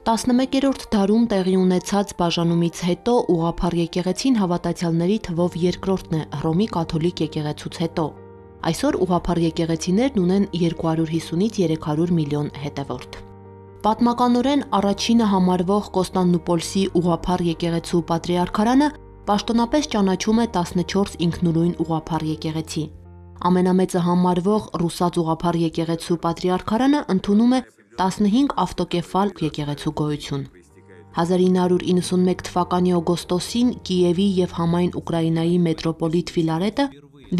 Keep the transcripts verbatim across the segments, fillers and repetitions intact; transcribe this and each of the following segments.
տասնմեկերորդ դարում տեղի ունեցած բաժանումից հետո ուղղափառ եկեղեցին հավատացյալների թվով երկրորդն է Հռոմի կաթոլիկ եկեղեցուց հետո։ Այսօր ուղղափառ եկեղեցիներն ունեն երկու հարյուր հիսունից երեք հարյուր միլիոն հետևորդ։ Պատմականորեն առաջինը համարվող Կոստանդնուպոլսի ուղղափառ եկեղեցու պատրիարքարանը պաշտոնապես ճանաչում է տասնչորս ինքնուրույն ուղղափառ եկեղեցի։ Ամենամեծը համարվող Ռուսաց ուղղափառ եկեղեցու պատրիարքարանը ընդունում է տասնհինգ ավտոկեֆալ եկեղեցու գոյություն։ հազար ինը հարյուր իննսունմեկ թվականի օգոստոսին Կիևի և համայն Ուկրաինայի մետրոպոլիտ Ֆիլարետը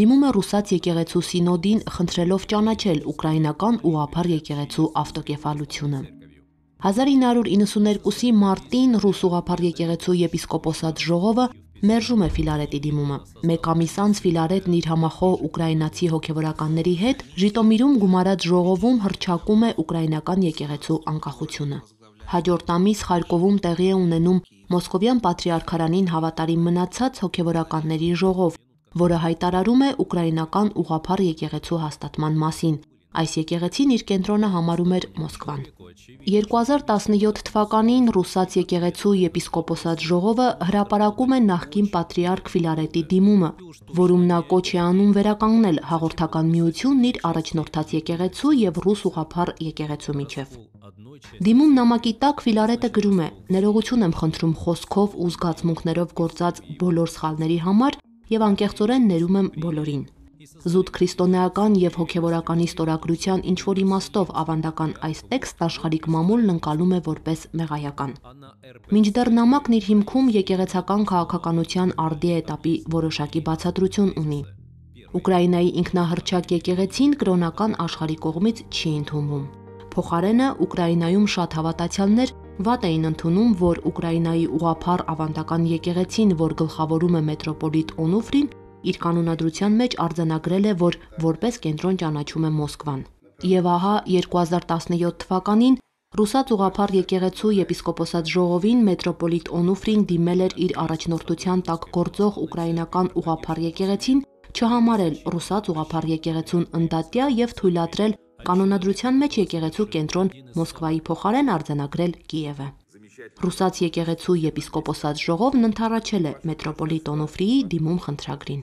դիմում է Ռուսաց եկեղեցու սինոդին խնդրելով ճանաչել ուկրաինական ուղղափառ եկեղեցու ավտոկեֆալությունը։ հազար ինը հարյուր իննսուներկուսի մարտին Ռուս ուղղափառ եկեղեցու եպիսկոպոսատ ժողովը մերժում է Ֆիլարետի դիմումը։ Մեկ ամիս անց Ֆիլարետն իր համախոհ ուկրաինացի հոգևորականների հետ Ժիտոմիրում գումարած ժողովում հռչակում է ուկրաինական եկեղեցու անկախությունը։ Հաջորդ ամիս Խարկովում տեղի է ունենում Մոսկովյան պատրիարքարանին հավատարիմ մնացած հոգևորականների ժողով, որը հայտարարում է ուկրաինական ուղղափառ եկեղեցու հաստատման մասին։ Այս եկեղեցին իր կենտրոնը համարում էր Մոսկվան։ երկու հազար տասնյոթ թվականին Ռուսաց եկեղեցու եպիսկոպոսատ ժողովը հրապարակում է նախկին պատրիարք Ֆիլարետի դիմումը, որում նա կոչ է անում վերականգնել հաղորդական միությունն իր առաջնորդած եկեղեցու և Ռուս ուղղափառ եկեղեցու միջև։ Դիմում նամակի տակ Ֆիլարետը գրում է. «Ներողություն եմ խնդրում խոսքով ու զգացմունքներով գործած բոլոր սխալների համար և անկեղծորեն ներում եմ բոլորին»։ Զուտ քրիստոնեական և հոգևորականի ստորագրության ինչ-որ իմաստով ավանդական այս տեքստն աշխարհիկ մամուլն ընկալում է որպես մեղայական։ Մինչդեռ նամակն իր հիմքում եկեղեցական քաղաքականության արդի էտապի որոշակի բացատրություն ունի։ Ուկրաինայի ինքնահռչակ եկեղեցին կրոնական աշխարհի կողմից չի ընդունվում։ Փոխարենը Ուկրաինայում շատ հավատացյալներ վատ էին ընդունում, որ Ուկրաինայի ուղղափառ ավանդական եկեղեցին, որ գլխավորում է մետրոպոլիտ Օնուֆրին, իր կանոնադրության մեջ արձանագրել է, որ որպես կենտրոն ճանաչում է Մոսկվան։ Եվ ահա երկու հազար տասնյոթ թվականին Ռուսաց ուղղափառ եկեղեցու եպիսկոպոսատ ժողովին մետրոպոլիտ Օնուֆրին դիմել էր իր առաջնորդության տակ գործող ուկրաինական ուղղափառ եկեղեցին չհամարել Ռուսաց ուղղափառ եկեղեցուն ընդդատյա և թույլատրել կանոնադրության մեջ եկեղեցու կենտրոն Մոսկվայի փոխարեն արձանագրել Կիևը։ Ռուսաց եկեղեցու եպիսկոպոսատ ժողովն ընդառաջել է մետրոպոլիտ Օնուֆրիի դիմում խնդրագրին։